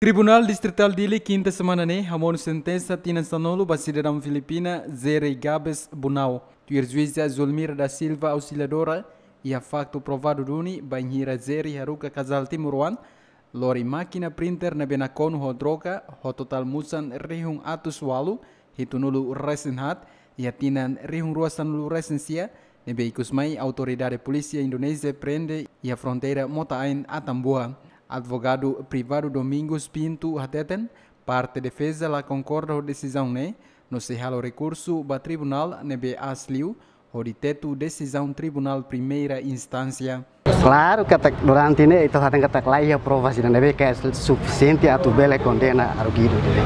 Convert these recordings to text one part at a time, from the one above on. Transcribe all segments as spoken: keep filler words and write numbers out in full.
Tribunál Distritál Dili, kinta semana ne'e, hamonu sentensa tinan sanulu ba sidadaun Filipina, Zeri Gabes Bunau. Tuir juíza Zulmira da Silva Auxiliadora, iha faktu provadu duni, bainhira Zeri haruka kazál timoroan, lori mákina printer ne'ebé nakonu ho droga, ho totál musan rihun atus ualu, hitunulu resin haat, iha tinan rihun rua sanulu resin sia, ne'ebé ikus mai autoridade polísia Indonézia prende iha fronteira Mota Ain Atambua. Advogadu privadu Domingos Pinto hateten, parte defeza la konkorda ho desizaun ne'e, no sei halo rekursu ba tribunál ne'ebé aas liu, hodi tetu desizaun tribunál primeira instánsia. Klaru katak durante ne'e ita hateten katak la iha provas ida ne'ebé ke sufisiente atu bele kondena arguidu ne'e.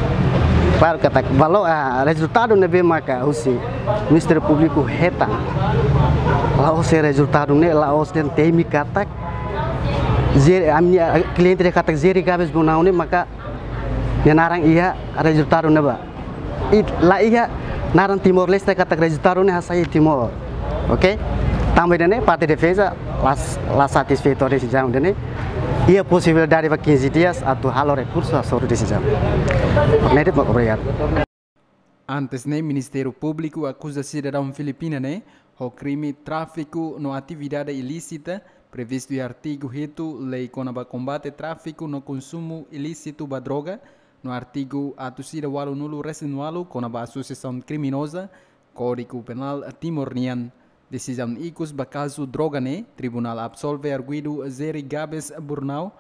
Klaru katak valór, ah, rezultadu ne'ebé maka husi Ministériu Públiku hetan. La'ós rezultadu ne'e, la'ós dehan temi katak Zeri, ami-nia, ah, kliente dehan katak Zeri Gabes Bunau ne'e maka nia naran iha rezultadu ne'ebá. I la iha naran Timor-Leste katak rezultadu ne'e hasai Timor. Oke? Tanba ida-ne'e parte defeza la, la satisfeitu ho desizaun ida-ne'e. Iha posibilidade ba kinze dias atu halo rekursu hasoru desizaun. Ne'e de'it, obrigadu. Antes ne'e, Ministériu Públiku akuza sidadaun Filipina ne'e ho krime tráfiku no atividade ilísita previstu iha artigu hitu Lei kona-ba kombate tráfiku no konsumu ilísitu ba droga, no artigu atus ida ualunulu resin ualu kona-ba asosiasaun kriminoza, Kódigu Penál Timor nian. Desizaun ikus ba kazu droga ne'e, tribunál absolve arguidu Zeri Gabes Bunau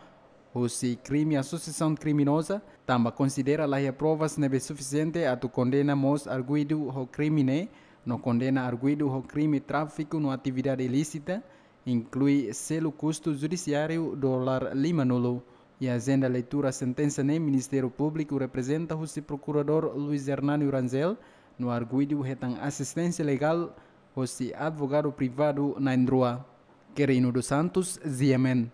husi krime asosiasaun kriminoza, tanba konsidera la iha provas ne'ebé sufisiente atu kondena mós arguidu ho krime ne'e, no kondena arguidu ho krime tráfiku no atividade ilísita, inklui selu kustu judisiáriu dolar limanulu. Iha ajenda leitura sentensa ne'e, Ministériu Públiku reprezenta husi Prokuradór Luis Hernani Rangel, no arguidu hetan asisténsia legál husi advogadu privadu na'in-rua. Querino dos Santos, G M N.